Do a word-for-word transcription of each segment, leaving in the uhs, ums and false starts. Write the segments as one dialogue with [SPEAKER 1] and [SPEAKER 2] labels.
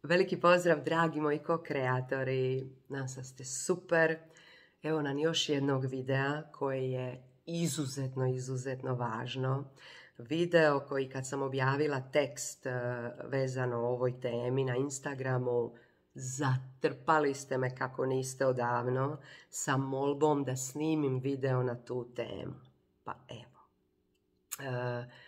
[SPEAKER 1] Veliki pozdrav, dragi moji ko-kreatori. Nadam se da ste super. Evo nam još jednog videa koji je izuzetno, izuzetno važno. Video koji kad sam objavila tekst vezano o ovoj temi na Instagramu, zatrpali ste me kako niste odavno sa molbom da snimim video na tu temu. Pa evo. E,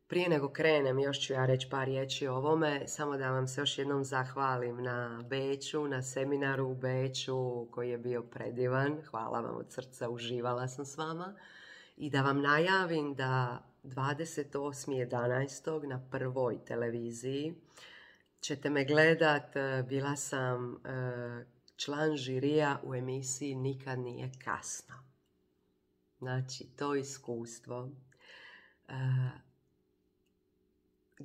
[SPEAKER 1] Prije nego krenem, još ću ja reći par riječi o ovome, samo da vam se još jednom zahvalim na Beču, na seminaru u Beču koji je bio predivan. Hvala vam od srca, uživala sam s vama. I da vam najavim da dvadeset osmog jedanaestog na Prvoj televiziji ćete me gledat. Bila sam član žirija u emisiji Nikad nije kasno. Znači, to iskustvo.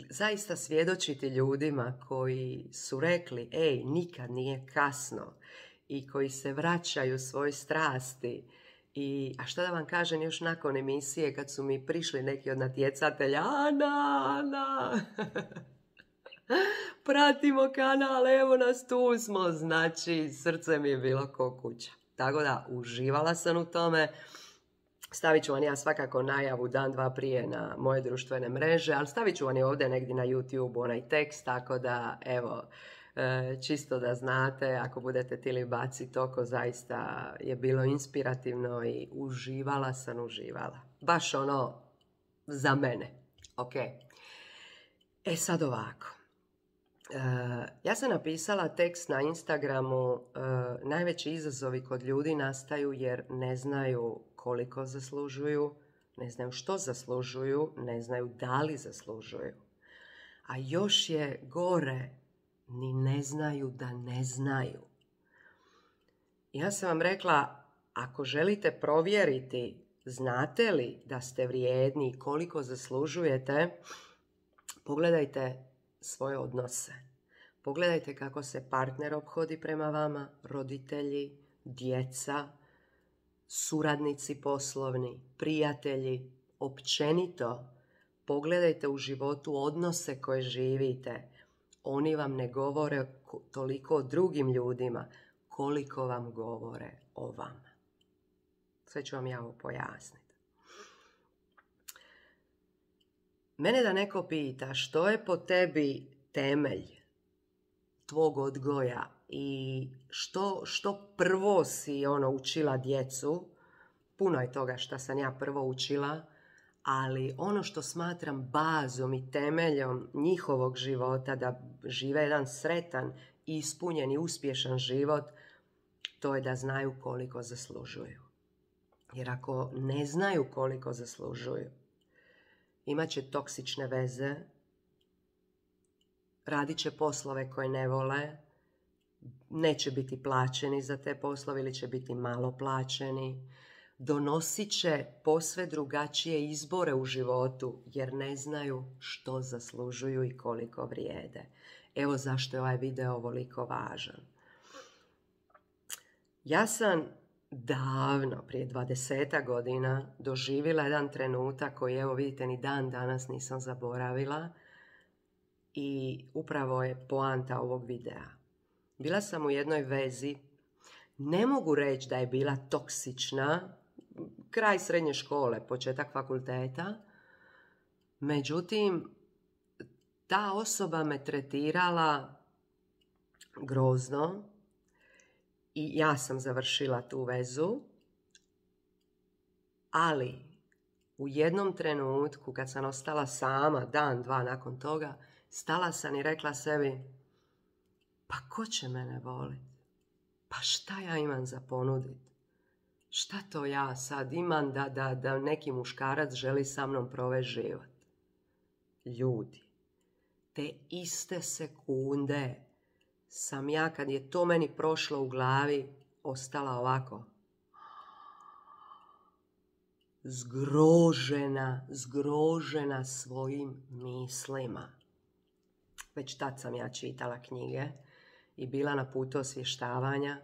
[SPEAKER 1] Zaista svjedočiti ljudima koji su rekli, ej, nikad nije kasno, i koji se vraćaju svoj strasti. I, a šta da vam kažem, još nakon emisije kad su mi prišli neki od natjecatelja, Ana, Ana, pratimo kanal, evo nas, tu smo. Znači, srce mi je bilo ko kuća. Tako da, uživala sam u tome. Stavit ću vam ja svakako najavu dan, dva prije na moje društvene mreže, ali stavit ću vam i ovdje negdje na YouTube onaj tekst, tako da, evo, čisto da znate, ako budete tili baciti oko, zaista je bilo inspirativno i uživala sam, uživala. Baš ono, za mene. Ok. E sad ovako. Ja sam napisala tekst na Instagramu, najveći izazovi kod ljudi nastaju jer ne znaju koliko zaslužuju, ne znaju što zaslužuju, ne znaju da li zaslužuju. A još je gore, ni ne znaju da ne znaju. Ja sam vam rekla, ako želite provjeriti, znate li da ste vrijedni i koliko zaslužujete, pogledajte svoje odnose. Pogledajte kako se partner ophodi prema vama, roditelji, djeca, suradnici poslovni, prijatelji, općenito. Pogledajte u životu odnose koje živite. Oni vam ne govore toliko o drugim ljudima koliko vam govore o vama. Sve ću vam ja ovo pojasniti. Mene da neko pita što je po tebi temelj tvog odgoja i što, što prvo si ono učila djecu, puno je toga što sam ja prvo učila, ali ono što smatram bazom i temeljom njihovog života, da žive jedan sretan, ispunjen i uspješan život, to je da znaju koliko zaslužuju. Jer ako ne znaju koliko zaslužuju, imat će toksične veze, radit će poslove koje ne vole, neće biti plaćeni za te poslove ili će biti malo plaćeni, donosit će posve drugačije izbore u životu jer ne znaju što zaslužuju i koliko vrijede. Evo zašto je ovaj video ovoliko važan. Ja sam davno, prije dvadesetak godina, doživjela jedan trenutak koji, evo vidite, ni dan danas nisam zaboravila i upravo je poanta ovog videa. Bila sam u jednoj vezi, ne mogu reći da je bila toksična, kraj srednje škole, početak fakulteta, međutim, ta osoba me tretirala grozno i ja sam završila tu vezu, ali u jednom trenutku kad sam ostala sama, dan, dva nakon toga, stala sam i rekla sebi, pa ko će mene voliti? Pa šta ja imam za ponuditi? Šta to ja sad imam da, da, da neki muškarac želi sa mnom provesti život? Ljudi, te iste sekunde sam ja, kad je to meni prošlo u glavi, ostala ovako. Zgrožena, zgrožena svojim mislima. Već tad sam ja čitala knjige i bila na putu osvještavanja,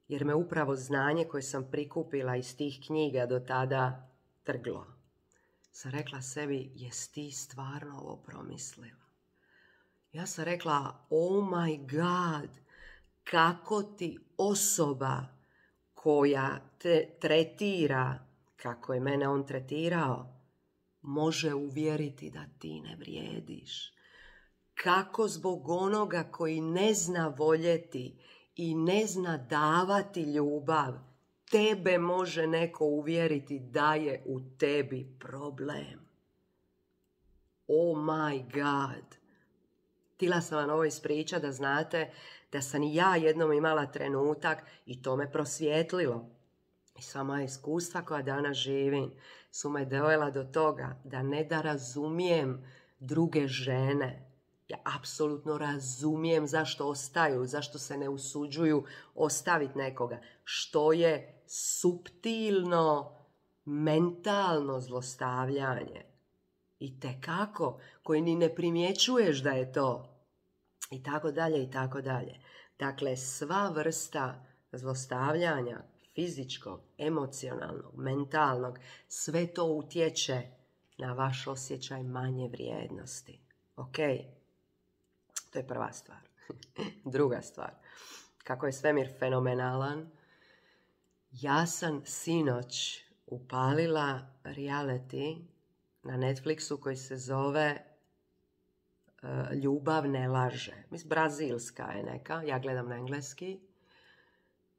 [SPEAKER 1] jer me upravo znanje koje sam prikupila iz tih knjiga do tada trglo. Sam rekla sebi, jesi ti stvarno ovo promislila? Ja sam rekla, oh my god, kako ti osoba koja te tretira kako je mene on tretirao, može uvjeriti da ti ne vrijediš. Kako zbog onoga koji ne zna voljeti i ne zna davati ljubav, tebe može neko uvjeriti da je u tebi problem. Oh my god. Htjela sam vam ovo ispričati da znate da sam i ja jednom imala trenutak i to me prosvijetlilo. I sva moja iskustva koja danas živim su me dovela do toga da ne da razumijem druge žene. Ja apsolutno razumijem zašto ostaju, zašto se ne usuđuju ostaviti nekoga. Što je suptilno, mentalno zlostavljanje. I tekako, koji ni ne primjećuješ da je to. I tako dalje, i tako dalje. Dakle, sva vrsta zlostavljanja, fizičkog, emocionalnog, mentalnog, sve to utječe na vaš osjećaj manje vrijednosti. Ok? To je prva stvar. Druga stvar. Kako je svemir fenomenalan, ja sam sinoć upalila reality na Netflixu koji se zove uh, Ljubav ne laže. Mislim, brazilska je neka, ja gledam na engleski.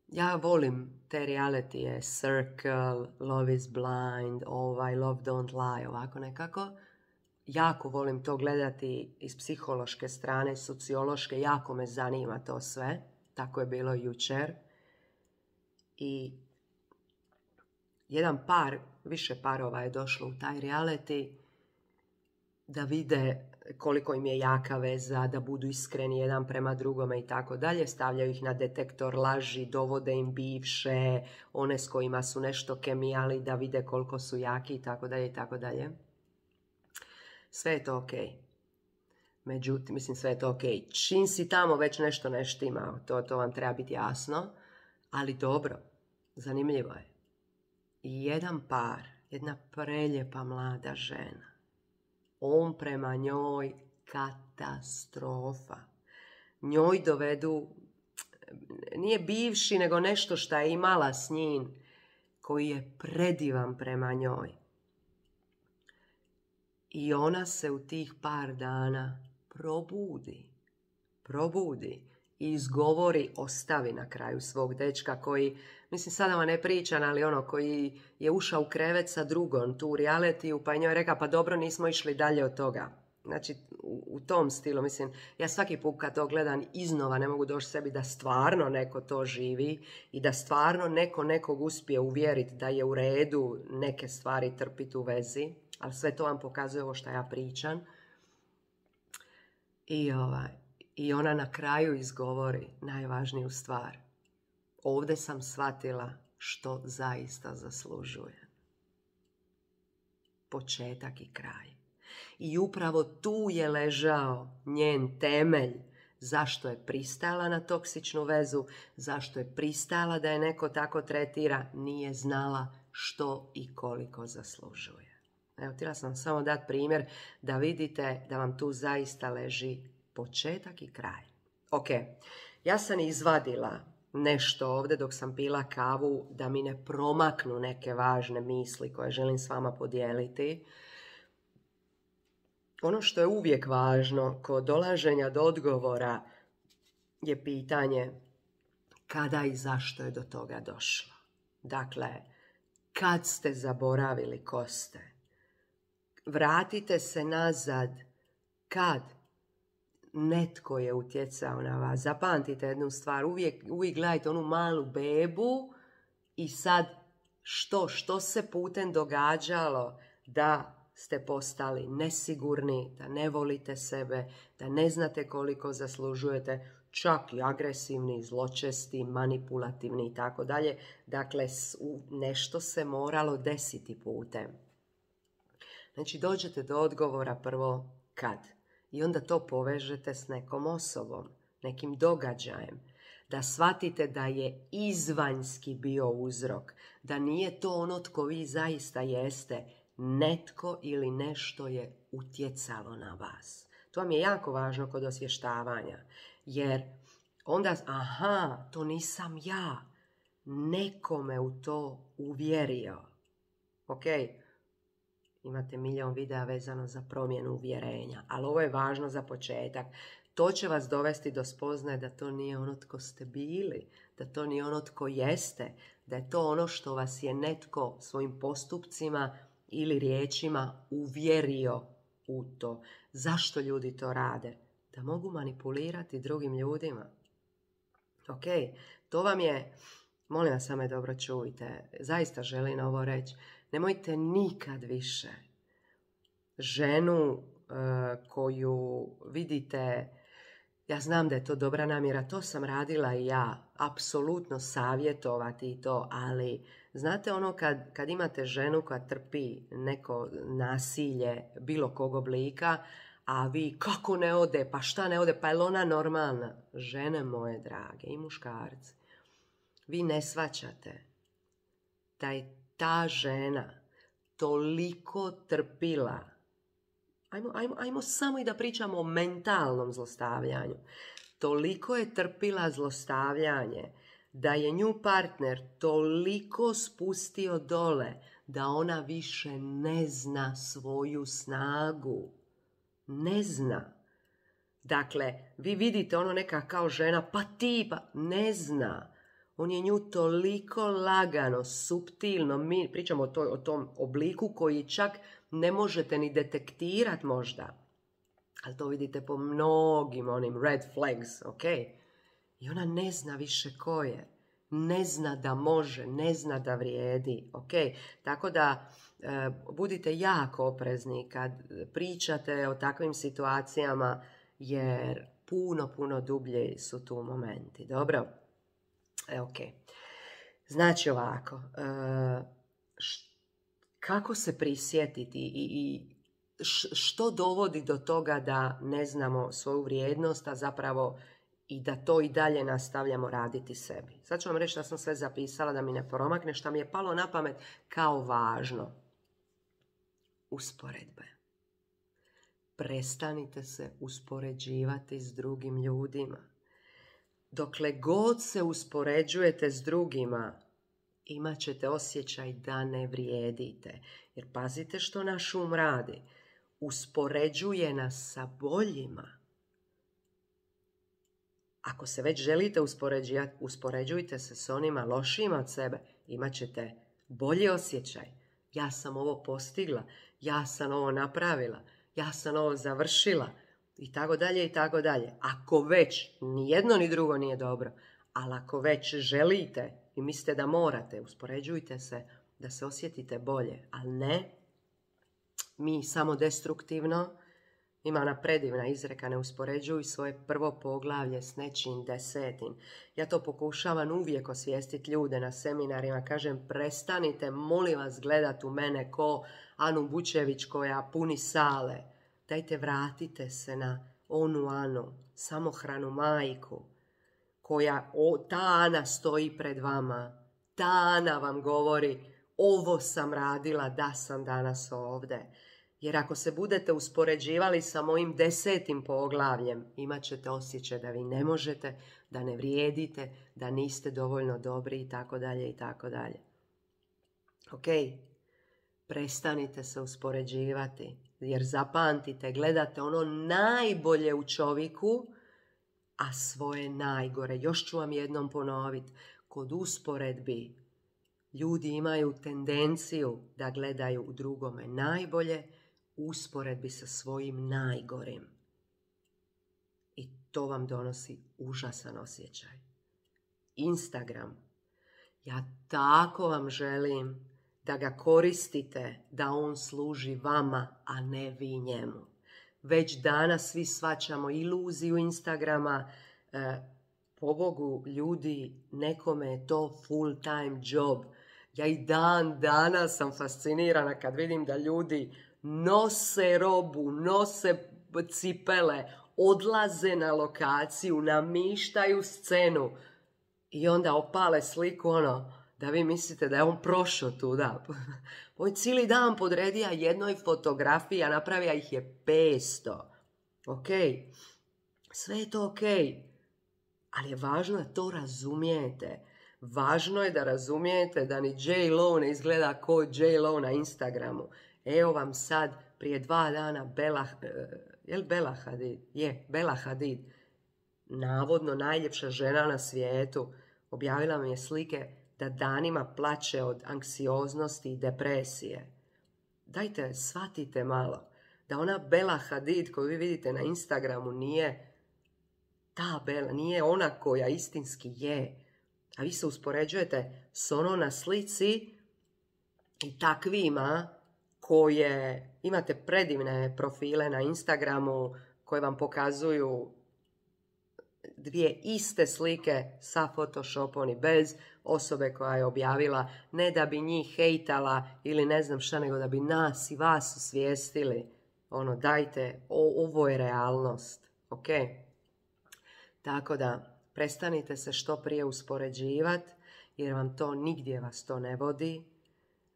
[SPEAKER 1] Ja volim te realitije, Circle, Love is Blind, ovaj, Love Don't Lie, ovako nekako. Jako volim to gledati iz psihološke strane, sociološke, jako me zanima to sve. Tako je bilo jučer. I jedan par, više parova je došlo u taj reality da vide koliko im je jaka veza, da budu iskreni jedan prema drugome i tako dalje. Stavljaju ih na detektor laži, dovode im bivše, one s kojima su nešto kemijali da vide koliko su jaki i tako dalje i tako dalje. Sve je to ok. Međutim, mislim sve je to ok. Čim si tamo već nešto ne štima, to, to vam treba biti jasno. Ali dobro, zanimljivo je. I jedan par, jedna preljepa mlada žena, on prema njoj katastrofa. Njoj dovedu, nije bivši, nego nešto što je imala s njim, koji je predivan prema njoj. I ona se u tih par dana probudi, probudi i izgovori, ostavi na kraju svog dečka koji, mislim sada vam ne pričam, ali ono koji je ušao u krevet sa drugom, tu u realitiju, pa je njoj rekao, pa dobro, nismo išli dalje od toga. Znači, u, u tom stilu, mislim, ja svaki put kad to gledam iznova ne mogu doći sebi da stvarno neko to živi i da stvarno neko nekog uspije uvjeriti da je u redu neke stvari trpiti u vezi, ali sve to vam pokazuje ovo što ja pričam. I, ovaj, i ona na kraju izgovori najvažniju stvar. Ovdje sam shvatila što zaista zaslužujem. Početak i kraj. I upravo tu je ležao njen temelj zašto je pristala na toksičnu vezu, zašto je pristala da je neko tako tretira, nije znala što i koliko zaslužuje. Evo, htjela sam samo dati primjer da vidite da vam tu zaista leži početak i kraj. Ok, ja sam izvadila nešto ovdje dok sam pila kavu da mi ne promaknu neke važne misli koje želim s vama podijeliti. Ono što je uvijek važno kod dolaženja do odgovora je pitanje kada i zašto je do toga došlo. Dakle, kad ste zaboravili ko ste? Vratite se nazad kad netko je utjecao na vas. Zapamtite jednu stvar, uvijek, uvijek gledajte onu malu bebu i sad što, što se putem događalo da ste postali nesigurni, da ne volite sebe, da ne znate koliko zaslužujete, čak i agresivni, zločesti, manipulativni i tako dalje. Dakle, nešto se moralo desiti putem. Znači, dođete do odgovora prvo kad. I onda to povežete s nekom osobom, nekim događajem. Da shvatite da je izvanjski bio uzrok. Da nije to ono tko vi zaista jeste. Netko ili nešto je utjecalo na vas. To vam je jako važno kod osvještavanja. Jer onda, aha, to nisam ja. Neko me u to uvjerio. Ok, imate milion videa vezano za promjenu uvjerenja, ali ovo je važno za početak. To će vas dovesti do spoznaje da to nije ono tko ste bili, da to nije ono tko jeste, da je to ono što vas je netko svojim postupcima ili riječima uvjerio u to. Zašto ljudi to rade? Da mogu manipulirati drugim ljudima. Ok, to vam je, molim vas samo dobro čujte, zaista želim ovo reći, nemojte nikad više ženu uh, koju vidite, ja znam da je to dobra namjera, to sam radila i ja, apsolutno savjetovati i to, ali znate ono kad, kad imate ženu koja trpi neko nasilje bilo kog oblika, a vi kako ne ode, pa šta ne ode, pa je li ona normalna? Žene moje drage i muškarci, vi ne shvaćate da je ta žena toliko trpila. Ajmo, ajmo, ajmo samo i da pričamo o mentalnom zlostavljanju. Toliko je trpila zlostavljanje da je nju partner toliko spustio dole da ona više ne zna svoju snagu. Ne zna. Dakle, vi vidite ono neka kao žena, pa ti, pa ne zna. On je nju toliko lagano, suptilno, mi pričamo o, toj, o tom obliku koji čak ne možete ni detektirati možda. Ali to vidite po mnogim onim red flags, ok? I ona ne zna više ko je. Ne zna da može, ne zna da vrijedi, ok? Tako da e, budite jako oprezni kad pričate o takvim situacijama jer puno, puno dublje su tu momenti, dobro? E, ok. Znači ovako, e, š, kako se prisjetiti i, i š, što dovodi do toga da ne znamo svoju vrijednost, a zapravo i da to i dalje nastavljamo raditi sebi. Sad ću vam reći što sam sve zapisala da mi ne promakne, što mi je palo na pamet kao važno. Usporedbe. Prestanite se uspoređivati s drugim ljudima. Dokle god se uspoređujete s drugima, imat ćete osjećaj da ne vrijedite. Jer pazite što naš um radi. Uspoređuje nas sa boljima. Ako se već želite uspoređivati, uspoređujte se s onima lošima od sebe. Imat ćete bolji osjećaj. Ja sam ovo postigla, ja sam ovo napravila, ja sam ovo završila. I tako dalje, i tako dalje. Ako već, ni jedno ni drugo nije dobro, ali ako već želite i mislite da morate, uspoređujte se da se osjetite bolje. Ali ne, mi samo destruktivno, ima ona predivna izreka, ne uspoređuj svoje prvo poglavlje s nečim desetim. Ja to pokušavam uvijek osvijestiti ljude na seminarima, kažem prestanite, molim vas, gledat u mene ko Anu Bučević koja puni sale. Dajte vratite se na onu Anu, samohranu majku, koja, o, ta Ana stoji pred vama. Ta Ana vam govori, ovo sam radila da sam danas ovdje. Jer ako se budete uspoređivali sa mojim desetim poglavljem, imat ćete osjećaj da vi ne možete, da ne vrijedite, da niste dovoljno dobri i tako dalje i tako dalje. Ok? Prestanite se uspoređivati. Jer zapamtite, gledate ono najbolje u čovjeku, a svoje najgore. Još ću vam jednom ponoviti. Kod usporedbi ljudi imaju tendenciju da gledaju u drugome najbolje, usporedbi sa svojim najgorim. I to vam donosi užasan osjećaj. Instagram. Ja tako vam želim da ga koristite, da on služi vama, a ne vi njemu. Već danas svi shvaćamo iluziju Instagrama. E, pobogu ljudi, nekome je to full time job. Ja i dan danas sam fascinirana kad vidim da ljudi nose robu, nose cipele, odlaze na lokaciju, namištaju scenu i onda opale sliku ono, da vi mislite da je on prošao tuda. On cijeli dan podredija jednoj fotografiji, a napravija ih je petsto. Ok, sve je to ok, ali je važno da to razumijete. Važno je da razumijete da ni J-Lo ne izgleda ko J-Lo na Instagramu. Evo vam sad, prije dva dana, Bella, je li Bella Hadid? Je, Bella Hadid, navodno najljepša žena na svijetu, objavila mi je slike da danima plače od anksioznosti i depresije. Dajte, shvatite malo da ona Bella Hadid koju vi vidite na Instagramu nije ta Bella, nije ona koja istinski je. A vi se uspoređujete s ono na slici i takvima koje imate predivne profile na Instagramu koje vam pokazuju dvije iste slike sa Photoshopom i bez, osobe koja je objavila, ne da bi njih hejtala ili ne znam šta, nego da bi nas i vas osvijestili. Ono, dajte, o, ovo je realnost, ok? Tako da, prestanite se što prije uspoređivati, jer vam to nigdje vas to ne vodi.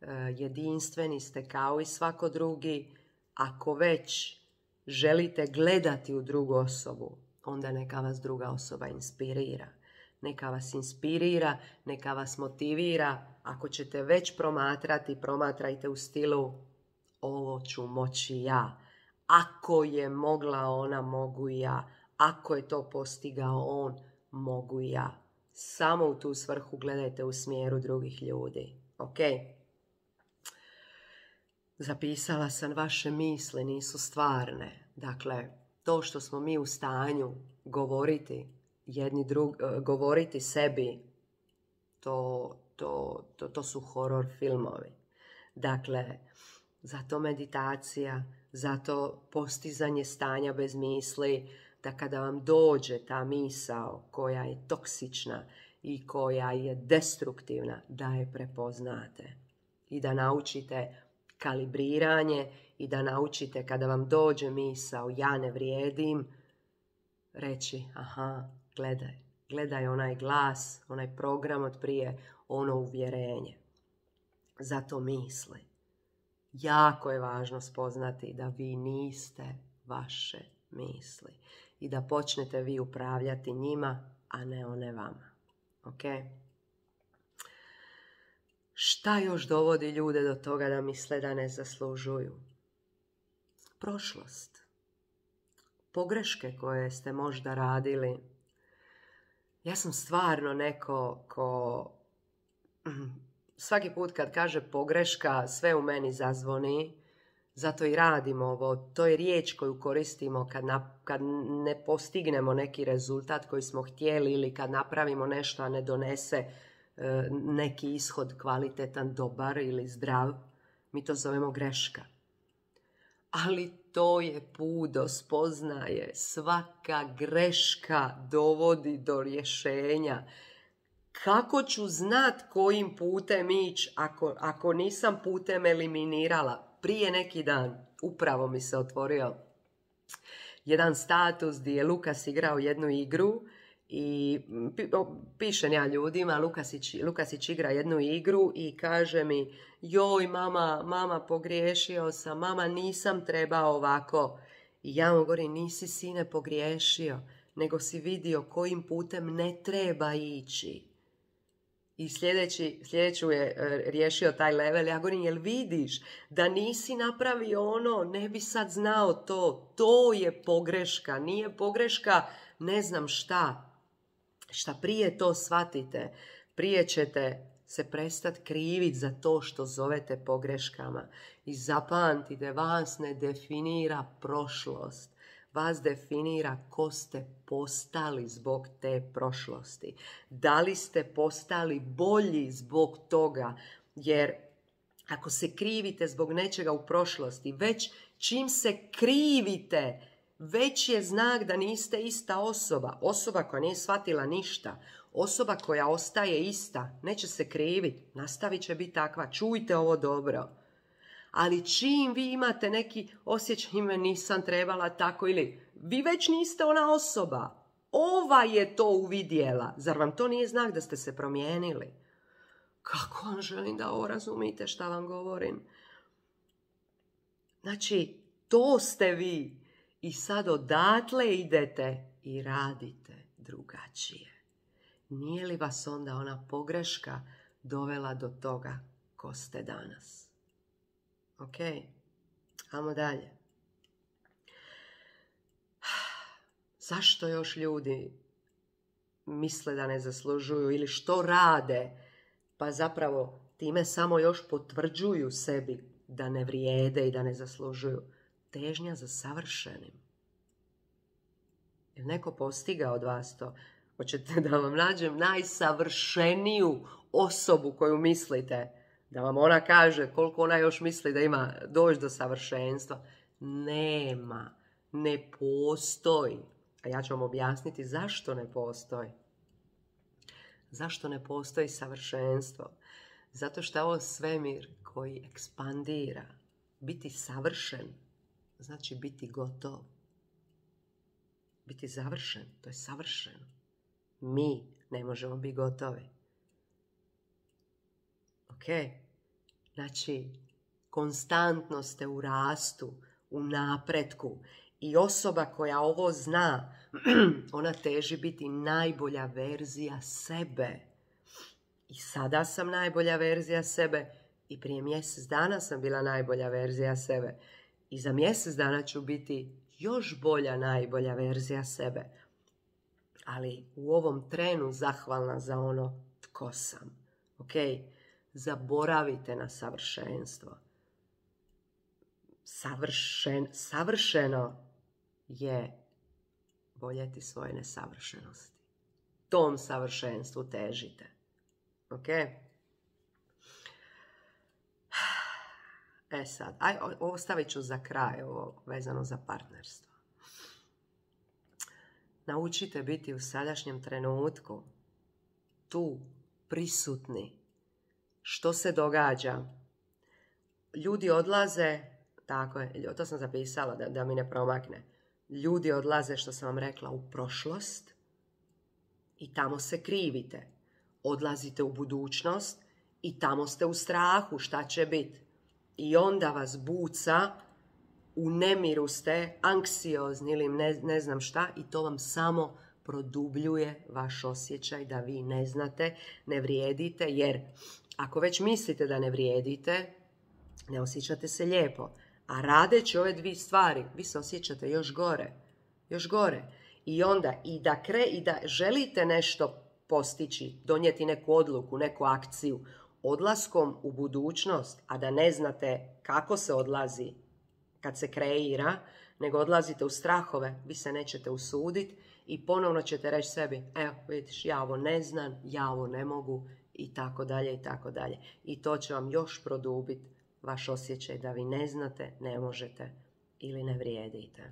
[SPEAKER 1] E, jedinstveni ste kao i svako drugi. Ako već želite gledati u drugu osobu, onda neka vas druga osoba inspirira. Neka vas inspirira, neka vas motivira. Ako ćete već promatrati, promatrajte u stilu ovo ću moći ja. Ako je mogla ona, mogu i ja. Ako je to postigao on, mogu i ja. Samo u tu svrhu gledajte u smjeru drugih ljudi. Ok? Zapisala sam, vaše misli nisu stvarne. Dakle, to što smo mi u stanju govoriti jedni drug, govoriti sebi, to, to, to, to su horor filmovi. Dakle, zato meditacija, zato postizanje stanja bez misli, da kada vam dođe ta misao koja je toksična i koja je destruktivna, da je prepoznate i da naučite kalibriranje i da naučite kada vam dođe misao ja ne vrijedim, reći aha, gledaj, gledaj onaj glas, onaj program od prije, ono uvjerenje. Zato misli. Jako je važno spoznati da vi niste vaše misli i da počnete vi upravljati njima, a ne one vama. Ok? Šta još dovodi ljude do toga da misle da ne zaslužuju? Prošlost. Pogreške koje ste možda radili. Ja sam stvarno neko ko svaki put kad kaže pogreška, sve u meni zazvoni. Zato i radimo ovo. To je riječ koju koristimo kad, na, kad ne postignemo neki rezultat koji smo htjeli ili kad napravimo nešto, a ne donese e, neki ishod kvalitetan, dobar ili zdrav. Mi to zovemo greška. Ali to je put do spoznaje. Svaka greška dovodi do rješenja. Kako ću znat kojim putem ići ako, ako nisam putem eliminirala? Prije neki dan upravo mi se otvorio jedan status gdje je Lukas igrao jednu igru i pišem ja ljudima, Lukasić, Lukasić igra jednu igru i kaže mi joj mama, mama pogriješio sam, mama nisam trebao ovako. I ja mu govorim nisi sine pogriješio, nego si vidio kojim putem ne treba ići. I sljedeći, sljedeću je e, riješio taj level. Ja govorim, jel vidiš da nisi napravio ono, ne bi sad znao to. To je pogreška, nije pogreška ne znam šta. Šta prije to shvatite, prije ćete se prestati kriviti za to što zovete pogreškama. I zapamtite, vas ne definira prošlost. Vas definira ko ste postali zbog te prošlosti. Da li ste postali bolji zbog toga? Jer ako se krivite zbog nečega u prošlosti, već čim se krivite, već je znak da niste ista osoba. Osoba koja nije shvatila ništa. Osoba koja ostaje ista, neće se kriviti, nastavit će biti takva. Čujte ovo dobro. Ali čim vi imate neki osjećaj, ime nisam trebala tako ili vi već niste ona osoba. Ova je to uvidjela. Zar vam to nije znak da ste se promijenili? Kako vam želim da ovo razumite šta vam govorim? Znači, to ste vi. I sad odatle idete i radite drugačije. Nije li vas onda ona pogreška dovela do toga ko ste danas? Ok, ajmo dalje. Zašto još ljudi misle da ne zaslužuju ili što rade, pa zapravo time samo još potvrđuju sebi da ne vrijede i da ne zaslužuju? Težnja za savršenim. Je neko postigao od vas to? Hoćete da vam nađem najsavršeniju osobu koju mislite? Da vam ona kaže koliko ona još misli da ima doći do savršenstva? Nema. Ne postoji. A ja ću vam objasniti zašto ne postoji. Zašto ne postoji savršenstvo? Zato što je ovo svemir koji ekspandira. Biti savršen znači biti gotov. Biti završen, to je savršeno. Mi ne možemo biti gotovi. Ok? Znači, konstantno ste u rastu, u napretku. I osoba koja ovo zna, ona teži biti najbolja verzija sebe. I sada sam najbolja verzija sebe i prije mjesec dana sam bila najbolja verzija sebe. I za mjesec dana ću biti još bolja najbolja verzija sebe. Ali u ovom trenu zahvalna za ono tko sam. Ok? Zaboravite na savršenstvo. Savršen, savršeno je voljeti svoje nesavršenosti. Tom savršenstvu težite. Ok? E sad, aj, ovo stavit ću za kraj, ovo vezano za partnerstvo. Naučite biti u sadašnjem trenutku, tu, prisutni. Što se događa? Ljudi odlaze, tako je, to sam zapisala da, da mi ne promakne. Ljudi odlaze, što sam vam rekla, u prošlost i tamo se krivite. Odlazite u budućnost i tamo ste u strahu šta će biti. I onda vas buca, u nemiru ste, anksiozni ili ne, ne znam šta, i to vam samo produbljuje vaš osjećaj da vi ne znate, ne vrijedite, jer ako već mislite da ne vrijedite, ne osjećate se lijepo. A radeći ove dvije stvari, vi se osjećate još gore. Još gore. I onda i da, kre, i da želite nešto postići, donijeti neku odluku, neku akciju, odlaskom u budućnost, a da ne znate kako se odlazi kad se kreira, nego odlazite u strahove, vi se nećete usuditi i ponovno ćete reći sebi, evo vidiš, ja ovo ne znam, ja ovo ne mogu i tako dalje i tako dalje. I to će vam još produbiti vaš osjećaj da vi ne znate, ne možete ili ne vrijedite.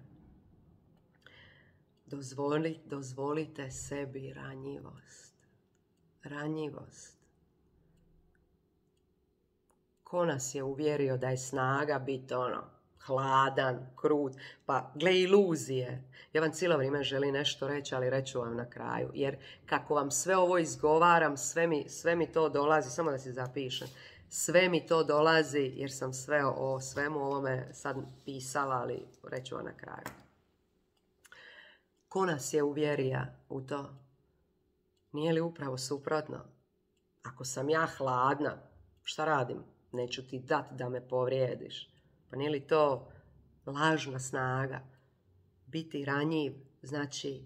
[SPEAKER 1] Dozvoli, dozvolite sebi ranjivost. Ranjivost. Ko nas je uvjerio da je snaga biti ono, hladan, krut, pa gle iluzije. Ja vam cijelo vrijeme želim nešto reći, ali reću vam na kraju. Jer kako vam sve ovo izgovaram, sve mi, sve mi to dolazi, samo da si zapišem, sve mi to dolazi jer sam sve o svemu ovome sad pisala, ali reću vam na kraju. Ko nas je uvjerio u to? Nije li upravo suprotno? Ako sam ja hladna, šta radim? Neću ti dati da me povrijediš. Pa nije li to lažna snaga? Biti ranjiv znači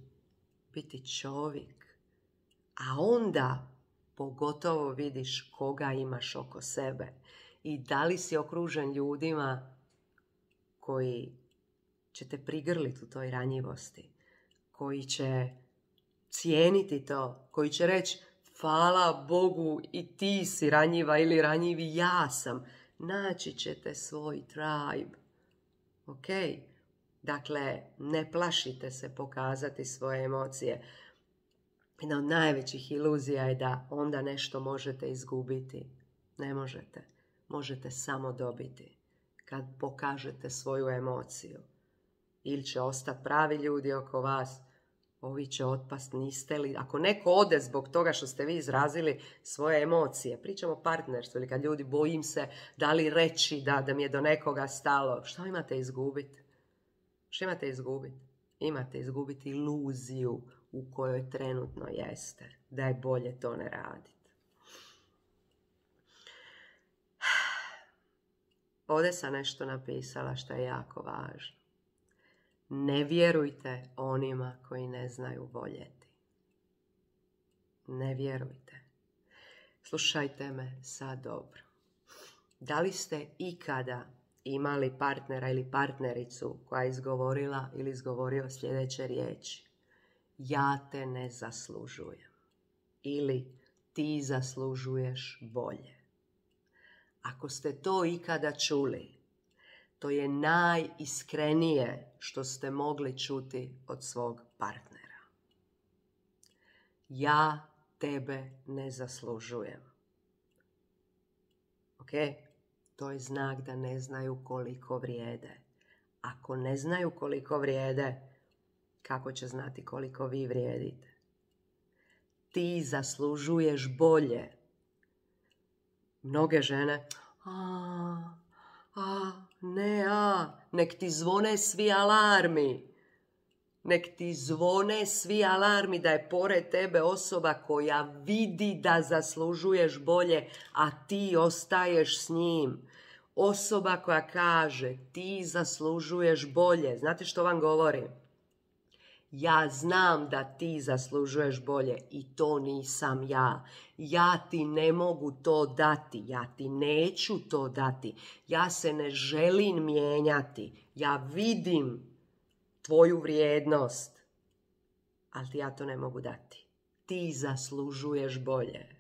[SPEAKER 1] biti čovjek. A onda pogotovo vidiš koga imaš oko sebe. I da li si okružen ljudima koji će te prigrliti u toj ranjivosti. Koji će cijeniti to. Koji će reći hvala Bogu i ti si ranjiva ili ranjivi ja sam. Naći ćete svoj tribe. Ok? Dakle, ne plašite se pokazati svoje emocije. Jedna od najvećih iluzija je da onda nešto možete izgubiti. Ne možete. Možete samo dobiti. Kad pokažete svoju emociju. Ili će ostati pravi ljudi oko vas, ovi će otpast, niste li. Ako neko ode zbog toga što ste vi izrazili svoje emocije, pričamo o partnerstvu, ili kad ljudi bojim se da li reći da, da mi je do nekoga stalo, što imate izgubiti? Što imate izgubiti? Imate izgubiti iluziju u kojoj trenutno jeste. Da je bolje to ne raditi. Ovdje sam nešto napisala što je jako važno. Ne vjerujte onima koji ne znaju voljeti. Ne vjerujte. Slušajte me sad dobro. Da li ste ikada imali partnera ili partnericu koja je izgovorila ili izgovorio sljedeće riječi? Ja te ne zaslužujem. Ili ti zaslužuješ bolje. Ako ste to ikada čuli, to je najiskrenije što ste mogli čuti od svog partnera. Ja tebe ne zaslužujem. Ok? To je znak da ne znaju koliko vrijede. Ako ne znaju koliko vrijede, kako će znati koliko vi vrijedite? Ti zaslužuješ bolje. Mnoge žene, a, a, ne, a, nek ti zvone svi alarmi. Nek ti zvone svi alarmi da je pored tebe osoba koja vidi da zaslužuješ bolje, a ti ostaješ s njim. Osoba koja kaže ti zaslužuješ bolje. Znate što vam govorim? Ja znam da ti zaslužuješ bolje i to nisam ja. Ja ti ne mogu to dati. Ja ti neću to dati. Ja se ne želim mijenjati. Ja vidim tvoju vrijednost, ali ti ja to ne mogu dati. Ti zaslužuješ bolje.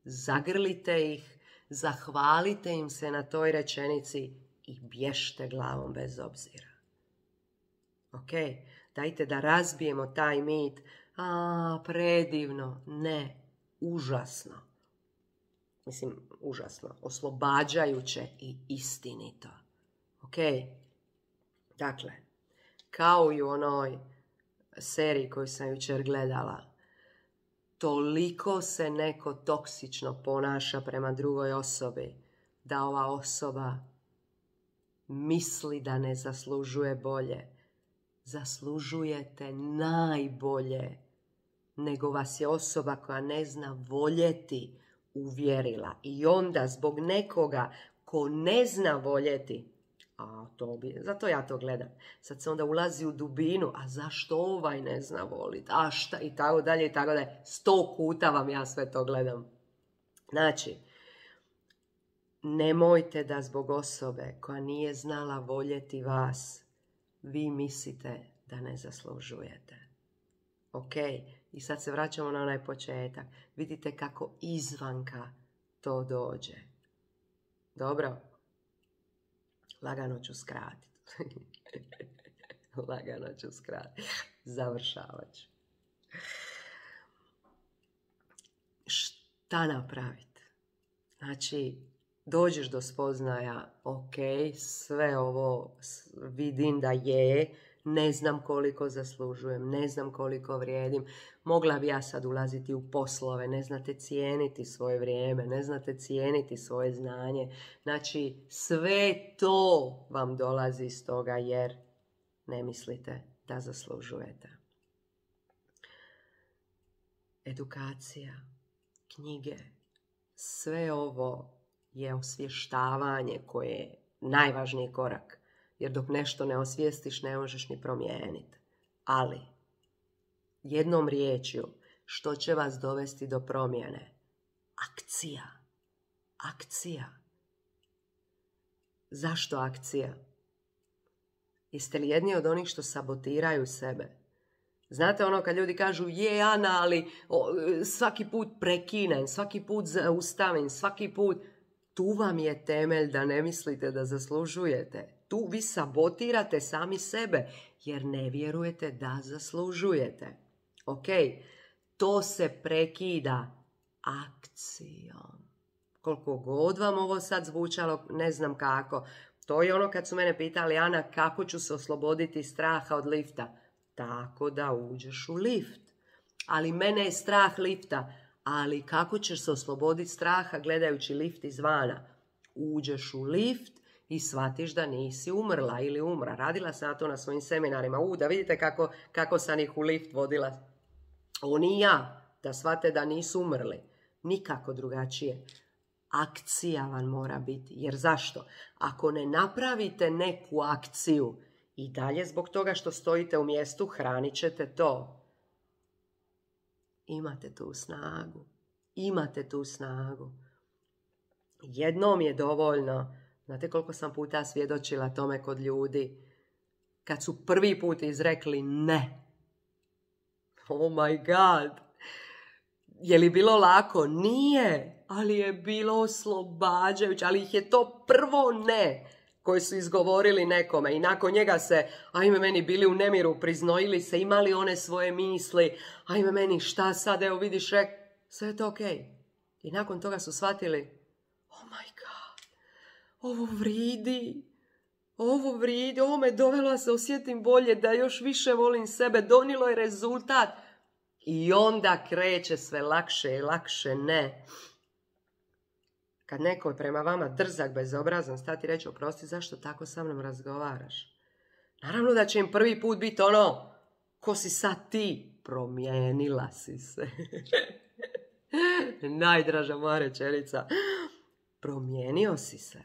[SPEAKER 1] Zagrlite ih, zahvalite im se na toj rečenici i bježte glavom bez obzira. Ok? Dajte da razbijemo taj mit. A, predivno. Ne, užasno. Mislim, užasno. Oslobađajuće i istinito. Ok? Dakle, kao i u onoj seriji koju sam jučer gledala, toliko se neko toksično ponaša prema drugoj osobi da ova osoba misli da ne zaslužuje bolje. Zaslužujete najbolje, nego vas je osoba koja ne zna voljeti uvjerila. I onda zbog nekoga ko ne zna voljeti, a to bi, zato ja to gledam. Sad se onda ulazi u dubinu, a zašto ovaj ne zna voliti, a šta, i tako dalje, i tako dalje. Sto puta vam ja sve to gledam. Znači, nemojte da zbog osobe koja nije znala voljeti vas, vi mislite da ne zaslužujete. Ok, i sad se vraćamo na onaj početak. Vidite kako izvanka to dođe. Dobro? Lagano ću skratiti. Lagano ću skratiti. Završavat ću. Šta napraviti? Znači, dođeš do spoznaja, ok, sve ovo vidim da je, ne znam koliko zaslužujem, ne znam koliko vrijedim, mogla bi ja sad ulaziti u poslove, ne znate cijeniti svoje vrijeme, ne znate cijeniti svoje znanje. Znači, sve to vam dolazi iz toga jer ne mislite da zaslužujete. Edukacija, knjige, sve ovo je osvještavanje koje je najvažniji korak. Jer dok nešto ne osvijestiš, ne možeš ni promijeniti. Ali, jednom riječju, što će vas dovesti do promjene? Akcija. Akcija. Zašto akcija? Jeste li jedni od onih što sabotiraju sebe? Znate ono kad ljudi kažu, je Ana, ali o, svaki put prekinem, svaki put zaustavim, svaki put... Tu vam je temelj da ne mislite da zaslužujete. Tu vi sabotirate sami sebe jer ne vjerujete da zaslužujete. Ok, to se prekida akcijom. Koliko god vam ovo sad zvučalo, ne znam kako. To je ono kad su mene pitali, Ana, kako ću se osloboditi straha od lifta? Tako da uđeš u lift. Ali mene je strah lifta. Ali kako ćeš se osloboditi straha gledajući lift izvana? Uđeš u lift i shvatiš da nisi umrla ili umra. Radila sam na to na svojim seminarima. U, da vidite kako, kako sam ih u lift vodila. Oni i ja, da shvate da nisu umrli. Nikako drugačije. Akcija vam mora biti. Jer zašto? Ako ne napravite neku akciju i dalje zbog toga što stojite u mjestu, hranit ćete to. Imate tu snagu. Imate tu snagu. Jednom je dovoljno. Znate koliko sam puta svjedočila tome kod ljudi kad su prvi put izrekli ne. Oh my god. Je li bilo lako? Nije. Ali je bilo oslobađajuće. Ali ih je to prvo ne koje su izgovorili nekome. I nakon njega se, ajme meni, bili u nemiru, priznojili se, imali one svoje misli. Ajme meni, šta sad, evo vidiš, rek, sve je to okej. Okay. I nakon toga su shvatili, oh my god, ovo vridi. Ovo vridi, ovo me dovelo da se osjetim bolje, da još više volim sebe, donilo je rezultat. I onda kreće sve lakše i lakše, ne. Kad neko je prema vama drzak, bezobrazan, stati reći, oprosti, zašto tako sa mnom razgovaraš? Naravno da će im prvi put biti ono, ko si sad ti? Promijenila si se. Najdraža moja rečenica. Promijenio si se.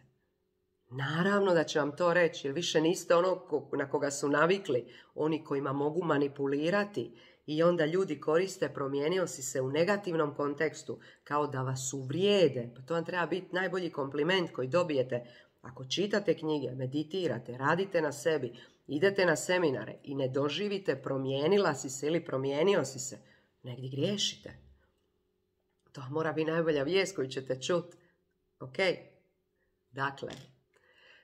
[SPEAKER 1] Naravno da će vam to reći, jer više niste ono na koga su navikli, oni kojima mogu manipulirati. I onda ljudi koriste promijenio si se u negativnom kontekstu, kao da vas uvrijede. Pa to vam treba biti najbolji kompliment koji dobijete. Ako čitate knjige, meditirate, radite na sebi, idete na seminare i ne doživite promijenila si se ili promijenio si se, negdje griješite. To mora biti najbolja vijest koju ćete čuti. Ok? Dakle,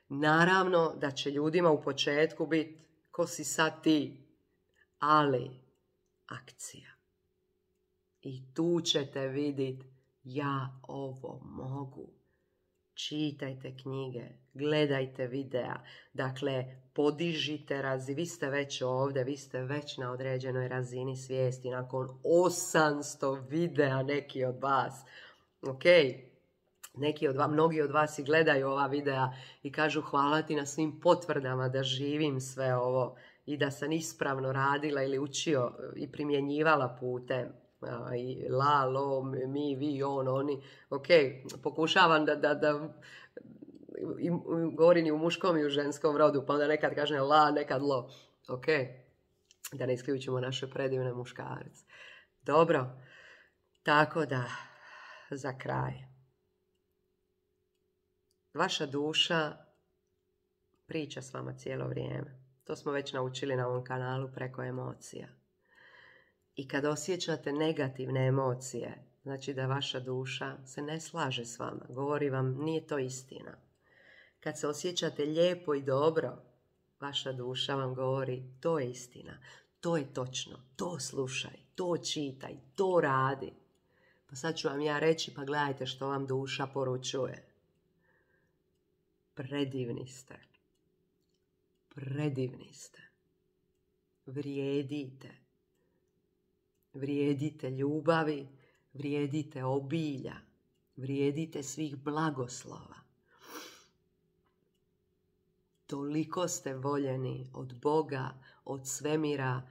[SPEAKER 1] naravno da će ljudima u početku biti ko si sad ti, ali akcija. I tu ćete vidjeti ja ovo mogu. Čitajte knjige, gledajte videa, dakle podižite razinu, vi ste već ovdje, vi ste već na određenoj razini svijesti, nakon osamsto videa neki od vas, ok? Neki od vas, mnogi od vas i gledaju ova videa i kažu hvala ti na svim potvrdama da živim sve ovo i da sam ispravno radila ili učio i primjenjivala putem. I la, lo, mi, vi, on, oni. Ok, pokušavam da, da, da i, govorim i u muškom i u ženskom rodu, pa onda nekad kažem la, nekad lo. Ok, da ne isključimo naše predivne muškarce. Dobro, tako da, za kraj. Vaša duša priča s vama cijelo vrijeme. To smo već naučili na ovom kanalu preko emocija. I kad osjećate negativne emocije, znači da vaša duša se ne slaže s vama. Govori vam, nije to istina. Kad se osjećate lijepo i dobro, vaša duša vam govori, to je istina. To je točno. To slušaj, to čitaj, to radi. Pa sad ću vam ja reći, pa gledajte što vam duša poručuje. Predivni ste. Predivni ste. Vrijedite. Vrijedite ljubavi, vrijedite obilja, vrijedite svih blagoslova. Toliko ste voljeni od Boga, od svemira,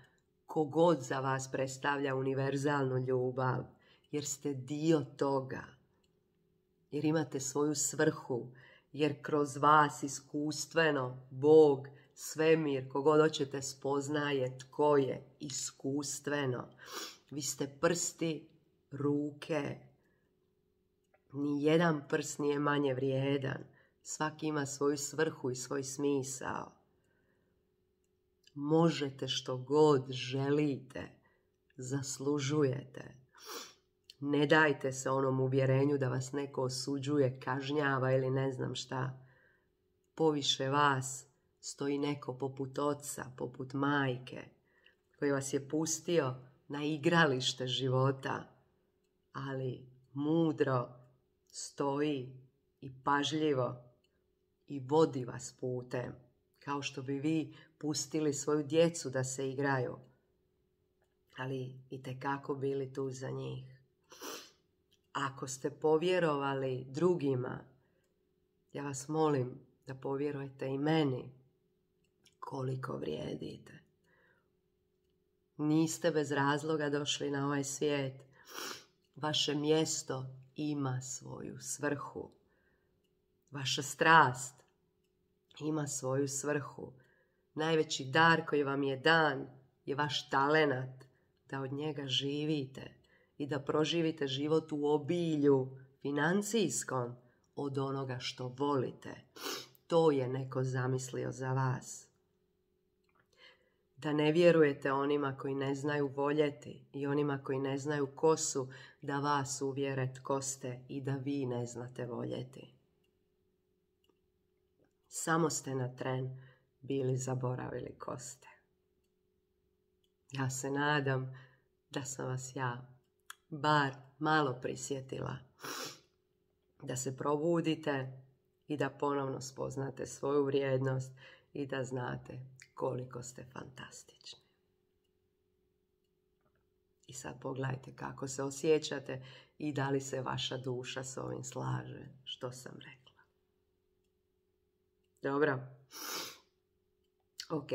[SPEAKER 1] kogod za vas predstavlja univerzalnu ljubav, jer ste dio toga, jer imate svoju svrhu, jer kroz vas iskustveno Bog, svemir, kogod hoćete spoznaje tko je iskustveno. Vi ste prsti, ruke. Nijedan prst nije manje vrijedan. Svaki ima svoju svrhu i svoj smisao. Možete što god želite. Zaslužujete. Ne dajte se onom uvjerenju da vas neko osuđuje, kažnjava ili ne znam šta. Poviše vas stoji neko poput oca, poput majke, koji vas je pustio na igralište života, ali mudro stoji i pažljivo i vodi vas putem, kao što bi vi pustili svoju djecu da se igraju, ali itekako bili tu za njih. Ako ste povjerovali drugima, ja vas molim, da povjerujete i meni koliko vrijedite. Niste bez razloga došli na ovaj svijet. Vaše mjesto ima svoju svrhu. Vaša strast ima svoju svrhu. Najveći dar koji vam je dan je vaš talenat da od njega živite i da proživite život u obilju financijskom od onoga što volite. To je neko zamislio za vas. Da ne vjerujete onima koji ne znaju voljeti i onima koji ne znaju ko su, da vas uvjere tko ste i da vi ne znate voljeti. Samo ste na tren bili zaboravili ko ste. Ja se nadam da sam vas ja bar malo prisjetila. Da se probudite i da ponovno spoznate svoju vrijednost i da znate koliko ste fantastični. I sad pogledajte kako se osjećate i da li se vaša duša s ovim slaže što sam rekla. Dobro? Ok.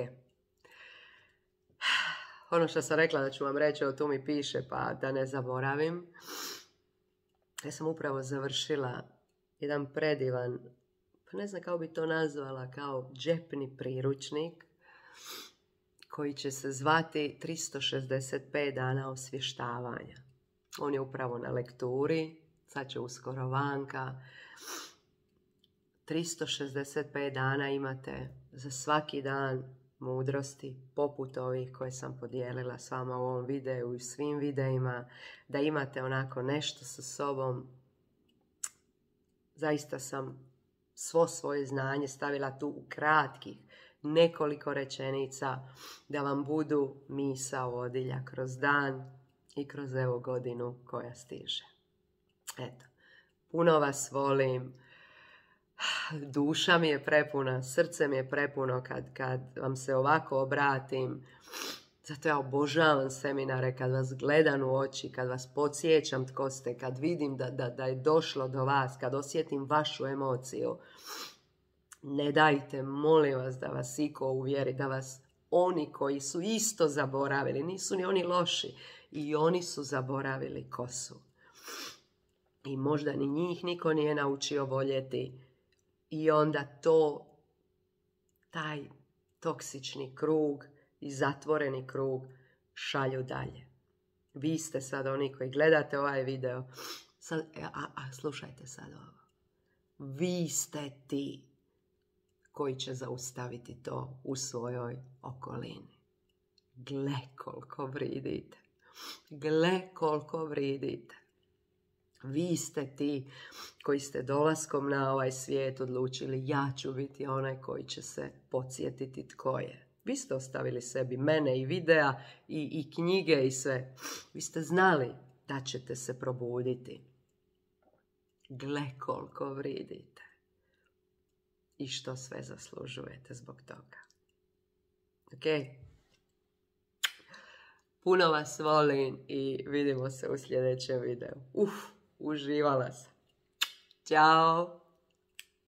[SPEAKER 1] Ono što sam rekla da ću vam reći, o tu mi piše, pa da ne zaboravim. Ja sam upravo završila jedan predivan, pa ne znam kako bi to nazvala, kao džepni priručnik koji će se zvati tristo šezdeset pet dana osvještavanja. On je upravo na lekturi, sad će uskoro vanka. tristo šezdeset pet dana imate za svaki dan mudrosti, poput ovih koje sam podijelila s vama u ovom videu i svim videima, da imate onako nešto sa sobom. Zaista sam svo svoje znanje stavila tu u kratkih nekoliko rečenica da vam budu misao vodilja kroz dan i kroz evo godinu koja stiže. Eto, puno vas volim. Duša mi je prepuna, srce mi je prepuno kad, kad vam se ovako obratim. Zato ja obožavam seminare kad vas gledam u oči, kad vas podsjećam tko ste, kad vidim da, da, da je došlo do vas, kad osjetim vašu emociju. Ne dajte, molim vas, da vas iko uvjeri, da vas oni koji su isto zaboravili, nisu ni oni loši, i oni su zaboravili ko su. I možda ni njih niko nije naučio voljeti. I onda to, taj toksični krug i zatvoreni krug šalju dalje. Vi ste sad oni koji gledate ovaj video. Sad, a, a slušajte sad ovo. Vi ste ti koji će zaustaviti to u svojoj okolini. Gle koliko vridite. Gle koliko vridite. Vi ste ti koji ste dolaskom na ovaj svijet odlučili, ja ću biti onaj koji će se podsjetiti tko je. Vi ste ostavili sebi mene i videa i, i knjige i sve. Vi ste znali da ćete se probuditi. Gle koliko vridite. I što sve zaslužujete zbog toga. Ok? Puno vas volim i vidimo se u sljedećem videu. Uf, uživala sam. Ćao!